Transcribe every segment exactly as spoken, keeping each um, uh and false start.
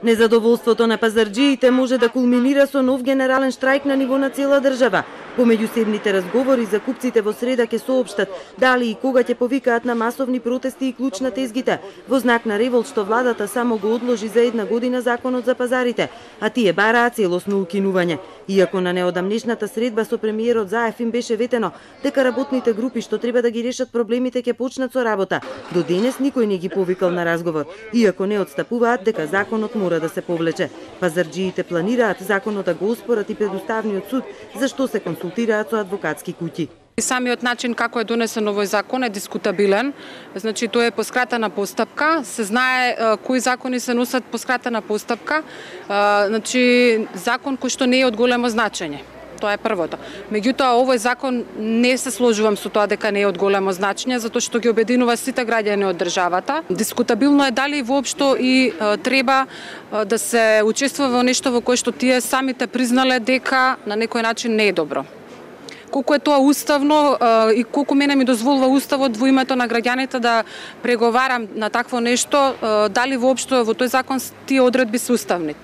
Незадоволството на пазарџиите може да кулминира со нов генерален штрајк на ниво на цела држава. По меѓусебните разговори закупците во среда ќе соопштат дали и кога ќе повикаат на масовни протести и клуч на тезгите, во знак на револт што владата само го одложи за една година законот за пазарите, а тие бараат целосно укинување. Иако на неодамнешната средба со премиерот Заев им беше ветено дека работните групи што треба да ги решат проблемите ќе почнат со работа, до денес никој не ги повикал на разговор, иако не отстапуваат дека законот мора да се повлече. Пазарџиите планираат законот да го оспорат и пред Уставниот суд, за што се консултираат со адвокатски куќи. Самиот начин како е донесен овој закон е дискутабилен. Значи тоа е по скратена постапка, се знае е, кои закони се носат по скратена постапка. Е, значи закон кој што не е од големо значење. Тоа е првото. Меѓутоа, овој закон не се сложувам со тоа дека не е од големо значење, затоа што ги обединува сите граѓани од државата. Дискутабилно е дали воопшто и е, треба е, да се учествува во нешто во кое што тие самите признале дека на некој начин не е добро. Колку е тоа уставно е, и колку мене ми дозволува уставот во името на граѓаните да преговарам на такво нешто, е, дали воопшто во тој закон тие одредби се уставни.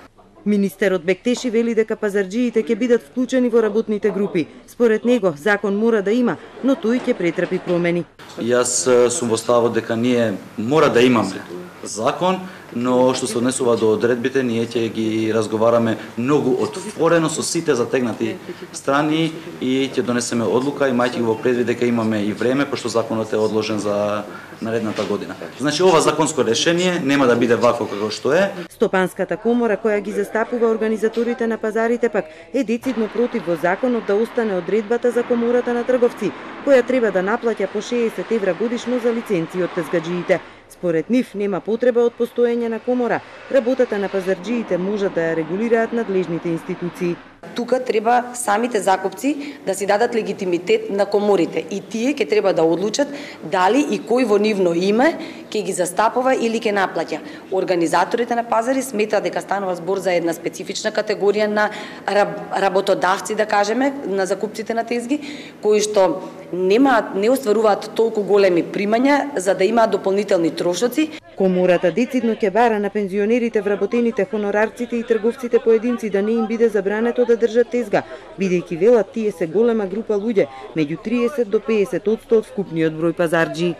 Министерот Бектеши вели дека пазарџиите ќе бидат вклучени во работните групи. Според него, закон мора да има, но тој ќе претрпи промени. Јас сум во ставот дека ние мора да имаме закон, но што се однесува до одредбите, ние ќе ги разговараме многу отворено со сите затегнати страни и ќе донесеме одлука, имајќи го во предвид дека имаме и време, пошто законот е одложен за наредната година. Значи, ова законско решение нема да биде вакво како што е. Стопанската комора, која ги застапува организаторите на пазарите, пак е децидно против во законот да остане одредбата за комората на трговци, која треба да наплаќа по шеесет евра годишно за лиценци од тезгаџиите. Според нив нема потреба од постоење на комора, работата на пазарџиите можат да ја регулираат надлежните институции. Тука треба самите закупци да си дадат легитимитет на коморите и тие ќе треба да одлучат дали и кој во нивно име ќе ги застапува или ќе наплаќа. Организаторите на пазари сметаат дека станува збор за една специфична категорија на работодавци, да кажеме, на закупците на тезги, кои што немаат, не остваруваат толку големи примања за да имаат дополнителни трошоци. Комората децидно ќе бара на пензионерите, вработените, хонорарците и трговците поединци да не им биде забрането да држат тезга, бидејќи велат тие се голема група луѓе, меѓу триесет до пеесет одсто од вкупниот број пазарџи.